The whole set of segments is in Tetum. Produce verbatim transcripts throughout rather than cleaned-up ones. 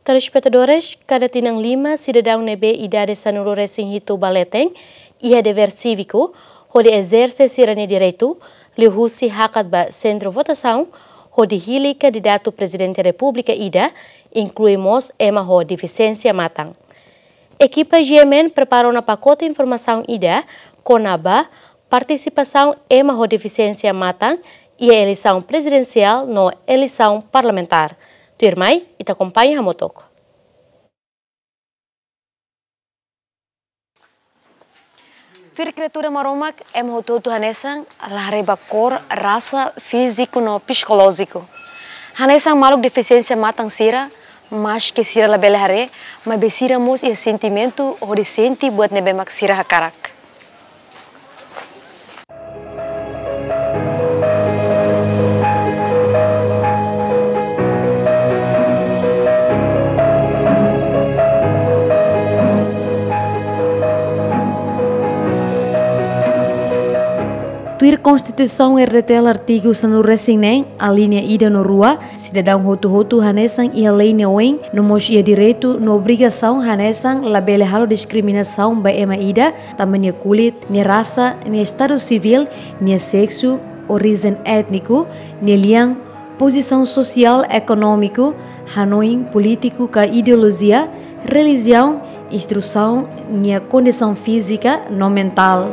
Telespetadores, kada tinan lima sidadaun ne'ebé idade sanulu-resin-hitu ba leten iha devér síviku hodi ezerse sira-nia direitu, liuhusi hakat ba sentru votasaun hodi hili kandidatu Prezidente Repúblika ida, inklui mós ema ho defisiénsia matan. Ekipa G M N prepara ona pakote informasaun ida kona-ba partisipasaun ema ho defisiénsia matan iha eleisaun prezidensiál no eleisaun parlamentár. Tuirmai, ita akompaña hamutuk. Tuir Kriatura Maromak, ema hotu-hotu hanesan, la haree ba kór, rasa, fíziku no psikolójiku. Hanesan maluk defisiénsia matan sira, maski sira labele haree, maibé sira mós iha sentimentu hodi sente buat ne'ebé mak sira hakarak. Tuir Konstituisaun R D T L artigu sanulu-resin-neen, alínea ida no rua, sidadaun hotu-hotu hanesan iha lei nia oin, no mós iha direitu no obrigasaun hanesan labele halo diskriminasaun ba ema ida, tanba nia kulit, nia rasa, nia estadu sivíl, nia seksu, orijen étniku, nia lian, pozisaun sosiál, ekonómiku, hanoin polítiku ka ideolojia, relijiaun, instrusaun, nia kondisaun fízika no mentál.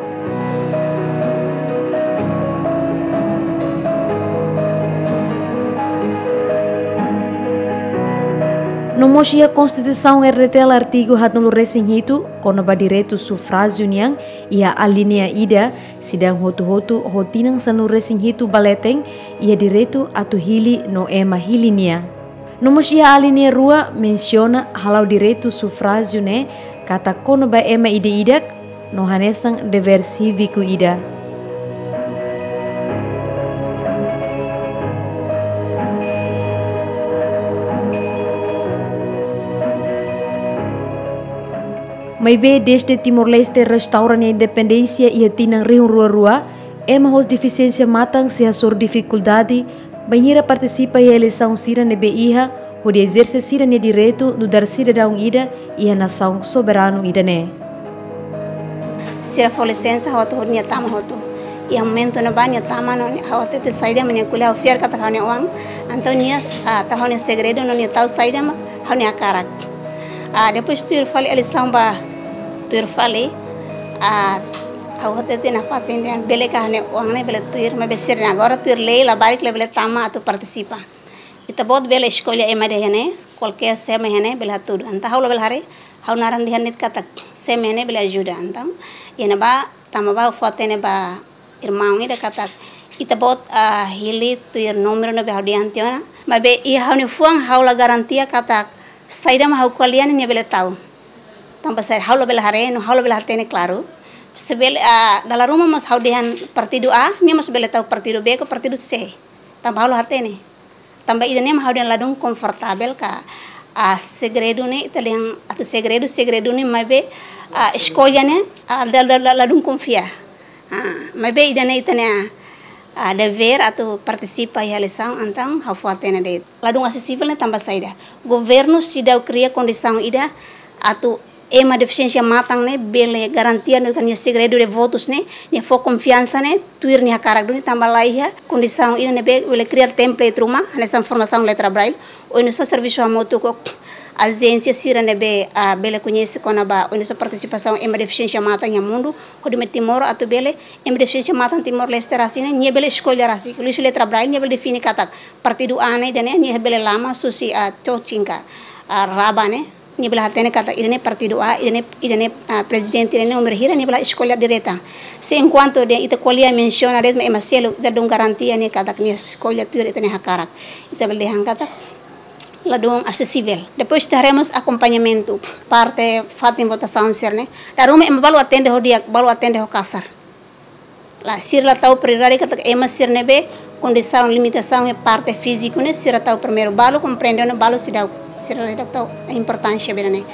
No mós iha Konstituisaun R D T L artigu haatnulu-resin-hitu, kona-ba direitu sufrájiu nian, iha alínea ida, sidadaun hotu-hotu ho tinan sanulu-resin-hitu ba leten iha direitu atu hili no ema hili nia. No mós iha alínea rua mensiona hala'o direitu sufrájiu ne'e katak kona-ba ema ida-idak no hanesan devér síviku ida. Maibé dezde Timor-Leste restaura nia independénsia iha tinan rihun rua rua, ema ho defisiénsia matan sei hasoru difikuldade bainhira partisipa iha eleisaun sira ne'ebé iha hodi ezerse sira-nia direitu nu'udar sidadaun ida iha nasaun soberanu ida-ne'e. Sira fó lisensa, ha'u atu hodi nia tama hotu. Iha momentu ne'ebá nia tama no nia, ha'u hatete saida mak nia ko'alia, ha'u fiar katak ha'u-nia oan. Entaun nia, ah, tau ha'u-nia segredu no nia tau saida mak ha'u-nia hakarak. Ah, depois tuir fali eleisaun ba tuir fali, ah, ha'u hatete nafatin dehan bele ka ha'u-nia oan ne'e bele tuir, maibé sira-nia agora tuir lei, labarik labele tama atu partisipa. Ita-boot bele eskolla ema ida iha ne'e, kualkér sé mak iha ne'e bele hatudu. Entaun ha'u labele haree, ha'u naran dehan de'it katak sé mak iha ne'e bele ajuda. Entaun iha ne'ebá, tanba bá ha'u fó-hatene ba irmaun ida katak ita-boot, ah, hili tuir númeru ne'ebé ha'u dehan tiha ona. Maibé iha ha'u-nia fuan ha'u la garantia katak saida mak ha'u ko'alia ne'e nia bele tau. Tanba saida, ha'u labele haree no ha'u labele hatene klaru. Se bele, ah, dala ruma mós ha'u dehan partidu A, nia mós bele tau partidu B ka partidu C. Tanba ha'u la hatene. Tanba ida-ne'e mak ha'u dehan ladún konfortavel ka, ah, segredu ne'e, ita dehan atu segredu, segredu ne'e maibé, ah, eskolla ne'e, ah, la, la, la, ladún konfia. Ah, maibé ida-ne'e ita-nia, ah, devér atu partisipa iha eleisaun, entaun ha'u fó-hatene de'it. Ladún asesivel ne'e tanba saida? Governu seidauk kria kondisaun ida atu ema defisiénsia matan ne'e bele garantia no ka nia segredu de votus ne'e, nia fó konfiansa ne'e, tuir nia hakarak duni tanba laiha kondisaun ida ne'ebé bele kria template ruma, hanesan formasaun letra braille, oinsá servisu hamutuk ho ajénsia sira ne'ebé, ah, bele koñese kona-ba oinsá partisipasaun ema defisiénsia matan iha mundu, hodi mai Timor atu bele ema defisiénsia matan Timor-Leste rasik ne'e, nia bele eskolla rasik, liuhusi letra braille, nia bele define katak partidu A ne'e, ida-ne'e, nia bele lama husi, ah, cocin ka, ah, raba ne'e, nia bele hatene katak ida-ne'e partidu A, ida-ne'e, ida-ne'e, ah, prezidente ida-ne'e númeru hira, nia bele eskolla direta. Se enkuantu dehan ita ko'alia mensiona de'it mak ema seluk, ita ladún garantia nia katak nia eskolla tuir ita-nia hakarak. Ita bele dehan katak ladún asesivel. Depois ita haree mós akompañamentu, parte fatin votasaun sira-ne'e. Dala ruma ema balu atende ho di'ak, balu atende ho kasar. Lae, sira la tau prioridade katak ema sira ne'ebé kondisaun limitasaun iha parte fíziku ne'e, sira tau primeiru, balu komprende ona, balu seidauk, sira la tau importánsia ba ida-ne'e.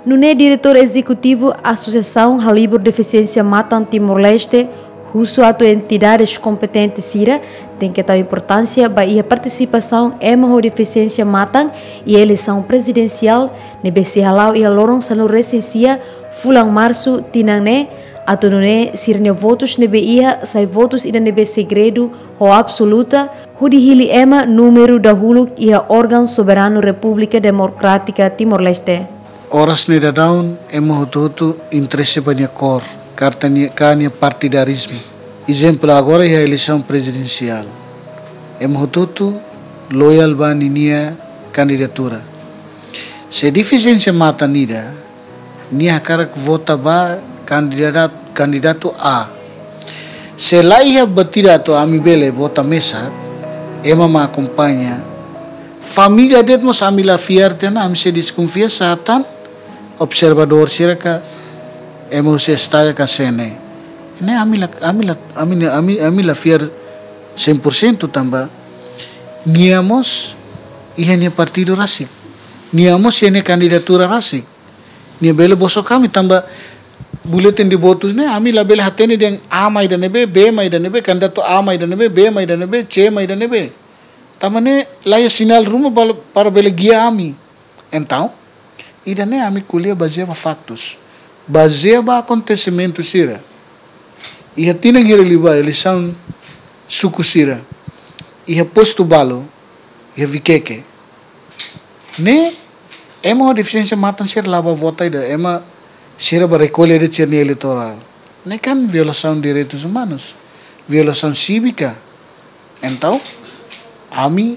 Nune'e Diretór Ezekutivu Asosiasaun Halibur Defisiénsia Matan Timor-Leste, Husu atu entidades kompetente sira tenke tau importánsia ba iha partisipasaun ema ho defisiénsia matan iha eleisaun prezidensiál ne'ebé sei hala'o iha loron sanulu-resin-sia fulan Marsu tinan ne'e, atu nune'e sira-nia votus ne'ebé iha sai votus ida ne'ebé segredu ho absoluta, hodi hili ema númeru dahuluk iha órgaun soberanu Repúblika Demokrátika Timor-Leste. Oras ne'e daudaun ema hotu-hotu interese ba nia kór, karta nia, ka nia partidarizmu. Ezemplu, agora iha eleisaun prezidensiál, ema hotu-hotu loyál ba ninia kandidatura. Se defisiénsia matan ida, nia hakarak vota ba kandidatu, kandidatu A. Se la iha batida atu ami bele vota mesak, ema mak akompaña. Família de'it mós ami la fiar tiha ona, ami sei deskonfia se atan observadór sira ka ema husi estadu ka C N E. Ne'e ami la, ami la, ami, ami, ami la fiar cem por cento tanba nia mós iha nia partidu rasik. Nia mós iha nia kandidatura rasik. Nia bele bosok ami tanba buletin de votus ne'e, ami labele hatene dehan A mak ida-ne'ebé, B mak ida-ne'ebé, kandidatu A mak ida-ne'ebé, B mak ida-ne'ebé, C mak ida-ne'ebé. Tanba ne'e la iha sinál ruma bal-, para bele gia ami. Entaun, ida-ne'e ami ko'alia bazeia ba faktus. Bazeia ba akontesimentu sira. Iha tinan hira liubá eleisaun suku sira. Iha postu balu, iha Viqueque. Ne'e, ema ho defisiénsia matan sira la bá vota ida, ema sira bá rekolla de'it sira-nia eleitorál. Ne'e kan violasaun direitus umanus, violasaun sívika. Entaun, ami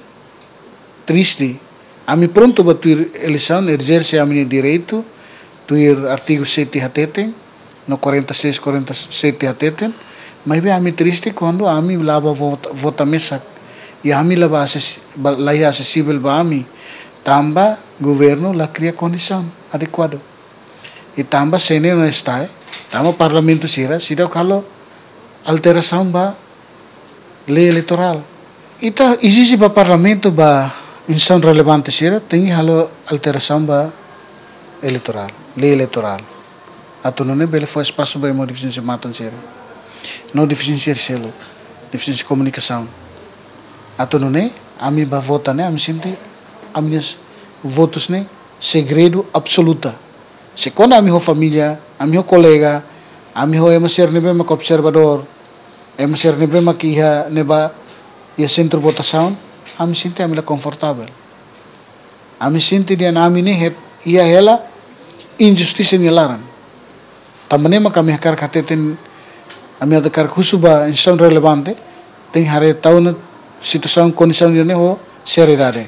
triste, ami prontu ba tuir eleisaun, ezerse ami-nia direitu, tuir artigu sete hateten, no quarenta e seis, quarenta e sete hateten, maibé ami triste kuandu ami la bá vota, vota mesak, i ami la bá ases-, ba, la iha asesivel ba ami, tanba governu la kria kondisaun adekuadu. I tanba C N E no STAE, tanba parlamentu sira, seidauk halo alterasaun ba lei eleitorál. Ita ezije ba parlamentu, ba instituisaun relevante sira, tenke halo alterasaun ba eleitorál, lei eleitorál. Atu nune'e bele fó espasu ba ema ho defisiénsia matan sira. No defisiénsia seluk, defisiénsia komunikasaun. Atu nune'e, ami bá vota ne'e, ami sente, ami-nia votus ne'e, segredu absoluta. Se kuandu ami ho família, ami ho kolega, ami ho ema sira ne'ebé mak observadór, ema sira ne'ebé mak iha ne'ebá, iha sentru votasaun, ami sente ami la konfortavel. Ami sente dehan ami ne'e het iha hela injustisa nia laran. Tanba ne'e mak ami hakarak hateten, ami hakarak husu ba instituisaun relevante, tenke haree tan ona situasaun kondisaun ida-ne'e ho seriedade.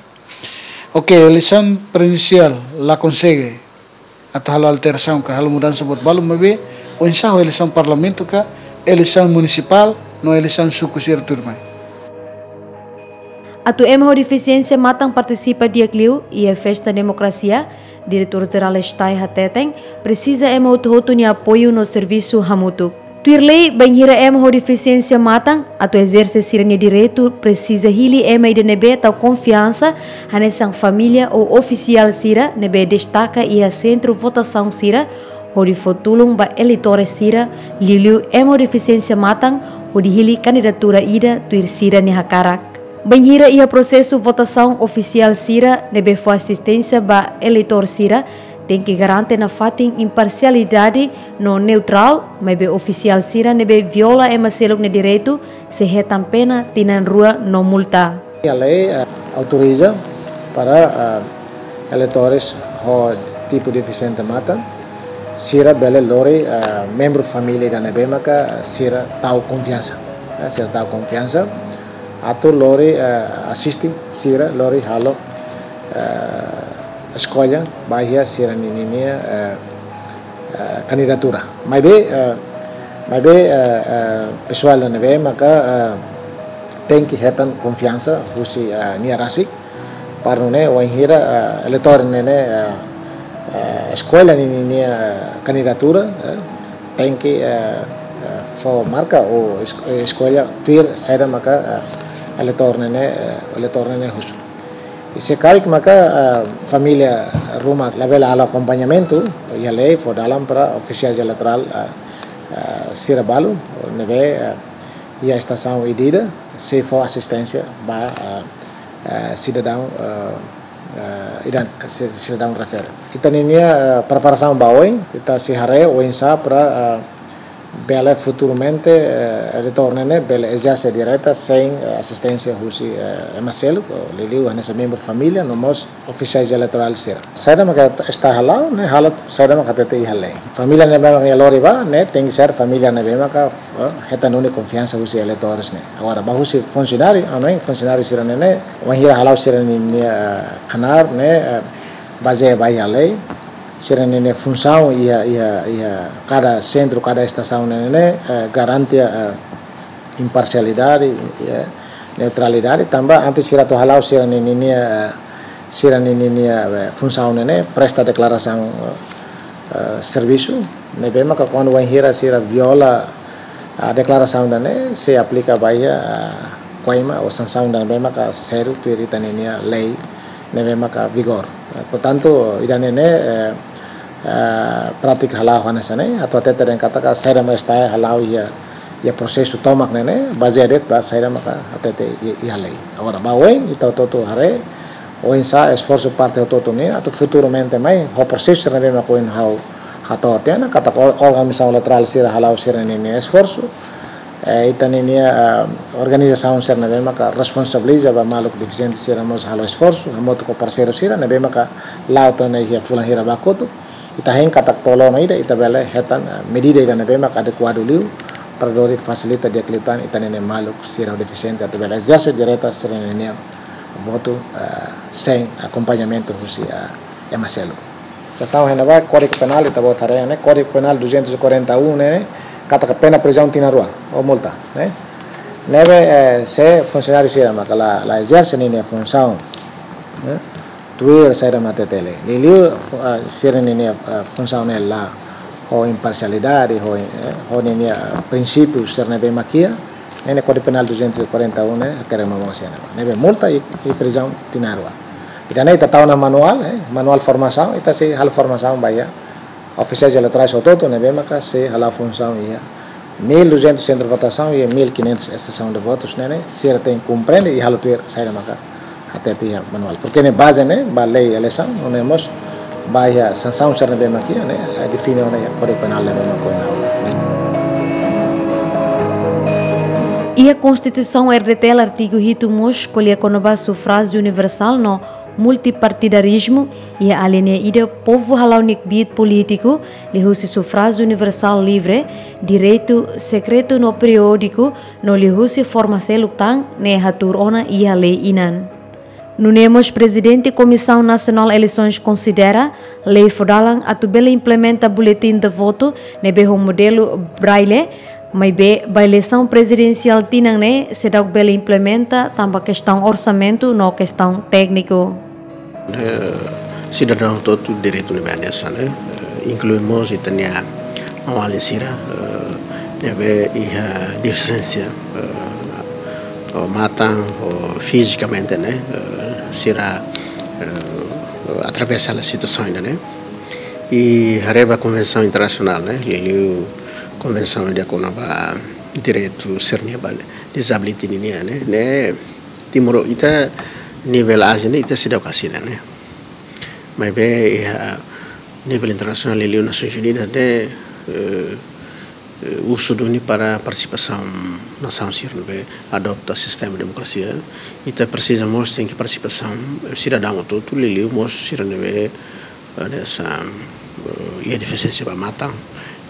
Oke, eleisaun prezidensiál la konsege atu halo alterasaun ka halo mudansa buat balu, maibé oinsá ho eleisaun parlamentu ka eleisaun munisipál no eleisaun suku sira tuirmai. Atu ema ho defisiénsia matan partisipa di'ak liu iha festa demokrasia, Diretór Jerál STAE hateten, presiza ema hotu-hotu nia apoiu no servisu hamutuk. Tuir lei, bainhira ema ho defisiénsia matan atu ezerse sira-nia direitu, presiza hili ema ida ne'ebé tau konfiansa, hanesan família ou ofisiál sira ne'ebé destaka iha sentru votasaun sira, hodi fó tulun ba eleitores sira, liuliu ema ho defisiénsia matan, hodi hili kandidatura ida tuir sira-nia hakarak. Bainhira iha prosesu votasaun, ofisiál sira ne'ebé fó asisténsia ba eleitór sira tenke garante nafatin imparsialidade no neutrál, maibé ofisiál sira ne'ebé viola ema seluk nia direitu sei hetan pena tinan rua no multa. A lei, eh, autoriza para, eh, eleitores ho tipu defisiente matan, sira bele lori, eh, membru família ida ne'ebé maka sira tau konfiansa. Eh, sira tau konfiansa atu lori, eh, asiste sira, lori halo, eh, eskolla ba iha sira-nia, ninia, eh, eh, kandidatura. Maibé, eh, maibé, eh, eh, pesoál ne'ebé maka, eh, tenke hetan konfiansa husi, eh, nia rasik. Para nune'e, wainhira, eh, eleitór ne'e, eh, eh, eskolla ninia, eh, kandidatura, eh, tenke, eh, eh, fó marka ou es-, eh, eskolla tuir saida maka, eh, eleitór ne'e, eh, eleitór ne'e husu. I se karik maka, eh, família ruma labele halo akompañamentu, iha lei fó dalan para ofisiál eleitorál, eh, eh, sira balu ne'ebé, eh, iha estasaun ida-idak sei fó asisténsia ba, eh, eh, sidadaun, eh, eh, ida-, si-, sidadaun refere. Ita-ninia, eh, preparasaun ba oin, ita sei haree oinsá para, eh, bele futuramente, eh, eleitór ne'e ne'e bele ezerse direta sein, eh, asisténsia husi, eh, ema seluk, liuliu hanesan membru família, no mós ofisiais eleitorál sira. Saida maka ita hala'o, ne'e halo saida maka hatete iha lei. Família ne'ebé maka nia lori bá, ne'e tenke ser família ne'ebé maka, eh, hetan duni konfiansa husi eleitores ne'e. Agora, ba husi funsionáriu, anu, funsionáriu sira ne'e ne'e, wainhira hala'o sira-ninia, eh, knaar ne'e, eh, bazeia ba iha lei, sira-ninia funsaun iha, iha, iha kada sentru, kada estasaun ne'e ne'e, eh, garante, eh, imparsialidade, eh, neutralidade, tanba antes sira atu hala'o sira-ninia, eh, sira-ninia, eh, funsaun ne'e ne'e, presta deklarasaun, eh, servisu, ne'ebé maka kuandu wainhira sira viola, ah, deklarasaun ida-ne'e, sei aplika ba iha, ah, koima ou sansaun ida ne'ebé maka sériu tuir ita-ninia lei ne'ebé maka vigor. Eh, portantu, ida-ne'e ne'e, eh, eh, prátika hala'o hanesan ne'e, atu hatete dehan katak saida maka estaha hala'o iha, iha prosesu tomak ne'e ne'e, bazeia de'it ba saida maka hatete i-, iha lei. Agora, ba oin, ita hotu-hotu haree, oinsá esforsu parte hotu-hotu nian, atu futuramente mai, ho prosesu sira ne'ebé maka ohin ha'u hato'o tiha ona, katak órgaun misaun eleitorál sira hala'o sira-ninia esforsu, eh, ita-ninia, eh, organizasaun sira ne'ebé maka responsabiliza ba maluk defisiente sira mós halo esforsu, hamutuk ho parseiru sira, ne'ebé maka la'o to'o ona iha fulan hira ba kotuk, ita hein katak to'o loron ida, ita bele hetan, eh, medida ida ne'ebé maka adekuadu liu, para lori fasilita di'ak liután ita-ninia maluk sira defisiente atu bele ezerse direta sira-ninia votu, eh, sein akompañamentu husi, eh, ema seluk. Sesaun iha ne'ebá, Kódigu Penál, ita-boot haree ne'e, Kódigu Penál duzentos e quarenta e um ne'e, katak pena prizaun tinan rua, ou multa, ne'e. Ne'ebé, eh, se funsionáriu sira maka la, la ezerse ninia funsaun, ne'e, tuir saida maka hatete lei. Liuliu, fu-, ah, sira-ninia, ah, funsaun ne'e la ho imparsialidade, ho, eh, ho ninia, ah, prinsípiu sira ne'ebé maka iha, ne'e ne'e Kódigu Penál duzentos e quarenta e um ne'e, hakerek momoos iha ne'ebá. Ne'ebé multa i, i prizaun tinan rua. Ida-ne'e ita tau ona manuál, eh, manuál formasaun, ita sei halo formasaun ba iha ofisiais eleitorais hotu-hotu ne'ebé maka sei hala'o funsaun iha mil e duzentos sentru votasaun i mil e quinhentos estasaun de votus ne'e ne'e, sira tenke komprende i halo tuir saida maka hatete iha manuál. Porke ne'e baze ne'e ba lei eleisaun, no ne'e mós ba iha sansaun sira ne'ebé maka iha ne'e, eh, define ona iha Kódigu Penál ne'ebé maka ohin ha'u. Iha Konstituisaun R D T L artigu hitu mós ko'alia kona-ba sufrájiu universál no multipartidarizmu, iha alínea ida povu hala'o nia kbiit polítiku liuhusi sufrájiu universál livre, direitu sekretu no periódiku, no liuhusi forma seluk tan ne'e hatuur ona iha lei-inan. Nune'e mós Prezidente Komisaun Nasionál Eleisoens konsidera lei fó dalan atu bele implementa buletin de votu ne'ebé ho modelu Braille, maibé ba eleisaun prezidensiál tinan ne'e seidauk bele implementa tanba kestaun orsamentu no kestaun tékniku. Eh, sidadaun hotu-hotu direitu ne'ebé hanesan, eh, inklui mós ita-nia maun-alin sira, eh, ne'ebé iha defisiénsia, eh, ou matan, ou fizikamente, ne'e, eh, sira, eh, atravesa hela situasaun ida-ne'e. I haree ba konvensaun internasionál, ne'e, liuliu konvensaun ida kona-ba direitu sira-nia ba dezabilita nian, ne'e, ne'e, Timor, ita nivel Ázia ne'e, ita seidauk asina, ne'e. Maibé iha nivel internasionál, liuliu Nasoins Unidas ne'e, eh, eh, usu duni para partisipasaun nasaun sira ne'ebé adota sistema demokrasia. Ita presiza mós tenke partisipasaun, eh, sidadaun hotu-hotu, liuliu mós sira ne'ebé, eh, hanesan, eh, iha defisiénsia ba matan,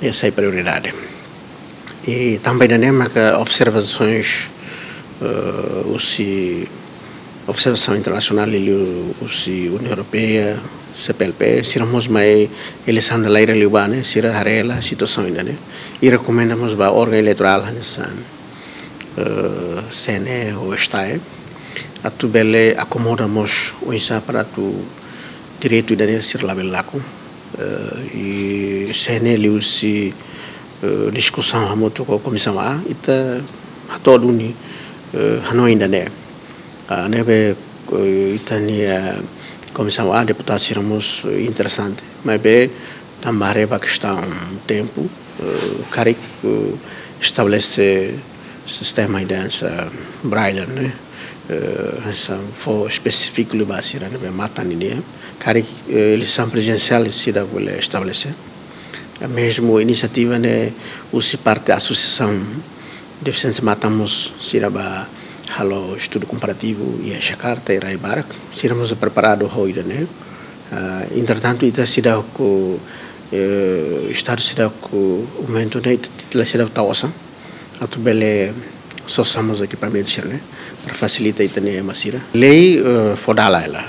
ne'e sai prioridade. I tanba ida-ne'e maka observasoens, eh, husi observasaun internasionál liuliu husi Uniaun Europeia, C P L P, sira mós mai eleisaun ida laiha liubá ne'e, sira haree hela situasaun ida-ne'e. I rekomenda mós ba órgaun eleitorál hanesan, eh, C N E ou STAE, atu bele akomoda mós oinsá para atu direitu ida-ne'e sira labele lakon. Eh, i C N E liuhusi, eh, diskusaun hamutuk ho Komisaun A, ita hato'o duni, eh, hanoin ida-ne'e. Ah, ne'ebé, eh, ita-nia, eh, Komisaun A, deputadu sira mós, eh, interesante. Maibé, tanba haree ba kestaun tempu, Eh, karik, eh, estabelese sistema ida hanesan braille ne'e, eh, hanesan fó espesífiku liu ba sira ne'ebé matan nian. Karik, eh, eleisaun prezidensiál seidauk bele estabelese. Eh, mezmu inisiativa ne'e husi parte asosiasaun defisiénsia matan mós sira bá halo estudu komparativu iha Jakarta, iha rai barak. Sira mós preparadu ho ida-ne'e. Ah, entretantu, ita seidauk, eh, Estadu seidauk, momentu ne'e, ita, ita seidauk tau osan atu bele sosa mós ekipamentu sira-ne'e, para fasilita ita-nia ema sira. Lei, eh, fó dala hela.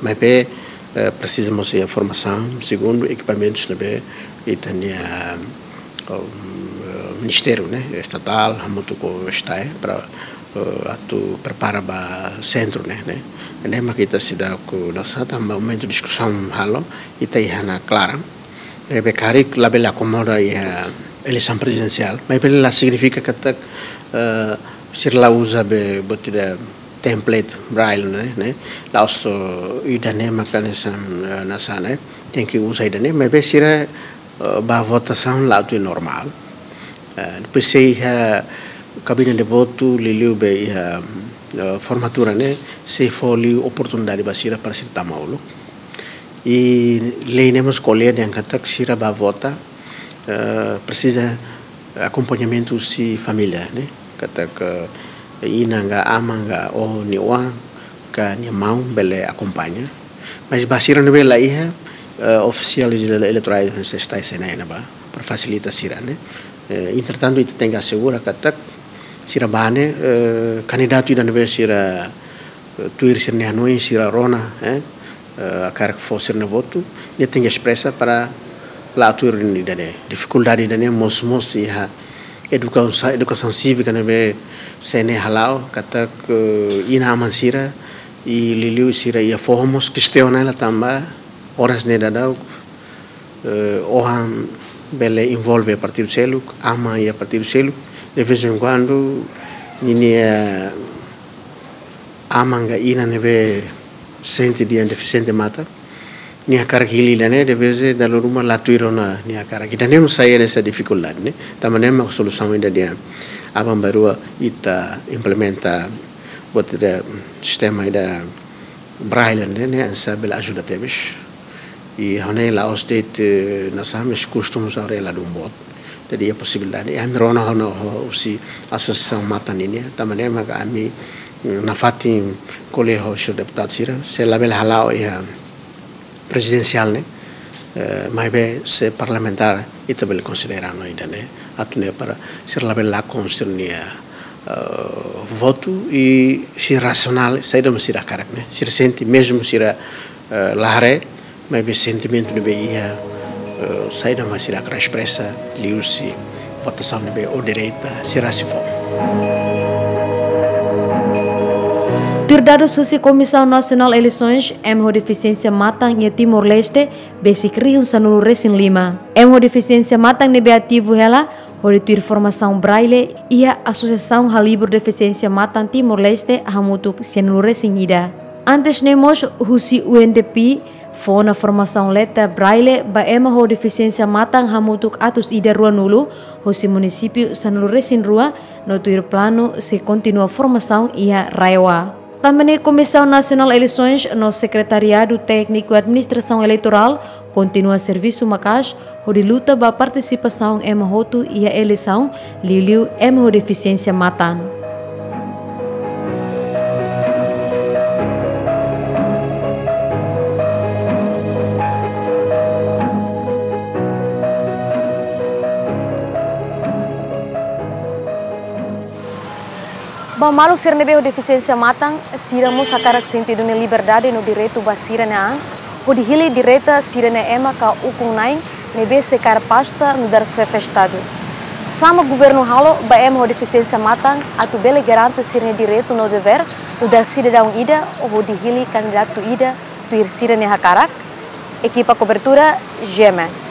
Maibé, eh, presiza mós iha formasaun, segundu ekipamentus ne'ebé ita-nia, eh, ministériu, ne'e, estatál, hamutuk ho STAE, para, eh, atu prepara ba sentru ne'e, ne'e. Ne'e mak ita seidauk, nasaun, tanba momentu diskusaun halo, ita iha ona klaran. Ne'ebé karik labele akomoda iha eleisaun prezidensiál, maibé la signifika katak, eh, sira la uza be buat ida template braille ne'e, ne'e. La'ós ida-ne'e maka hanesan, eh, nasaun ne'e tenke uza ida-ne'e, maibé sira, eh, bá votasaun la'o tuir normál. Eh, depois sei iha kabine de votu, liuliu be iha, eh, formatura ne'e, sei fó liu oportunidade ba sira para sira tama uluk. I lei ne'e mós ko'alia dehan katak sira bá vota, eh, presiza akompañamentu husi família, ne'e. Katak inan ka aman ka oho nia oan ka nia maun bele akompaña. Mas ba sira ne'ebé la iha, eh, ofisiál ele-, eleitorál hanesan STAE, SNE ne'ebá, para fasilita sira, ne'e. Eh, entretantu, ita tenke asegura katak sira bá ne'e, eh, kandidatu ida ne'ebé sira, eh, tuir sira-nia hanoin, sira rona, eh, eh, hakarak fó sira-nia votu, nia tenke espresa para la'o tuir ida-ne'e. Difikuldade ida-ne'e mós, mós iha edukasaun, edukasaun sívika ne'ebé SNE hala'o, katak inan-aman sira, i liuliu sira iha foho mós kestiona hela tanba oras ne'e daudaun, eh, oan bele envolve partidu seluk, aman iha partidu seluk, de vez em quando, ninia aman ka inan ne'ebé sente dehan defisiente matan, nia hakarak hili ida-ne'e, de vez dala ruma la tuir ona nia hakarak. Ida-ne'e mós sai hanesan difikuldade, ne'e. Tanba ne'e mak solusaun ida dehan aban-bainrua ita implementa buat ida sistema ida braille ne'e, ne'e hanesan bele ajuda tebes. I ha'u hanoin la'ós de'it, eh, nasaun, mas kustu mós agora ladún boot. Jadi iha posibilidade, ami rona ona ho, husi asosiasaun matan nian, tanba ne'e maka ami, mm, nafatin ko'alia ho señór deputadu sira, se labele hala'o iha prezidensiál ne'e, eh, maibé se parlamentár ita bele konsidera ona ida-ne'e, atu nune'e para sira labele lakon sira-nia, eh, votu i sira rasionál, saida mak sira hakarak ne'e, sira sente mezmu sira, eh, la haree, maibé sentimentu ne'ebé iha, eh, saida mak sira hakarak espresa liuhusi votasaun ne'ebé ou direta sira sei fó. Tuir dadus husi Komisaun Nasionál Eleisoens, ema ho defisiénsia matan iha Timor-Leste besik rihun sanulu-resin-lima. Ema ho defisiénsia matan ne'ebé ativu hela hodi tuir formasaun braille iha Asosiasaun Halibur Defisiénsia Matan Timor-Leste hamutuk sianulu-resin-ida. Antes ne'e mós husi U N D P fó ona formasaun leta braille ba ema ho defisiénsia matan hamutuk atus ida ruanulu, husi munisípiu sanulu-resin-rua, no tuir planu sei kontinua formasaun iha RAEOA. Tanba ne'e Komisaun Nasionál Eleisoens no Sekretariadu Tékniku Administrasaun Eleitorál kontinua servisu maka'as hodi luta ba partisipasaun ema hotu iha eleisaun, liuliu ema ho defisiénsia matan. Ba maluk sira ne'ebé ho defisiénsia matan, sira mós hakarak sente duni liberdade no direitu ba sira-nia an, hodi hili direta sira-nia ema ka ukun-na'in ne'ebé sei kaer pasta nu'udar xefe Estadu. Sá mak governu halo ba ema ho defisiénsia matan atu bele garante sira-nia direitu no devér nu'udar sidadaun ida hodi hili kandidatu ida tuir sira-nia hakarak? Ekipa kobertura, G M N.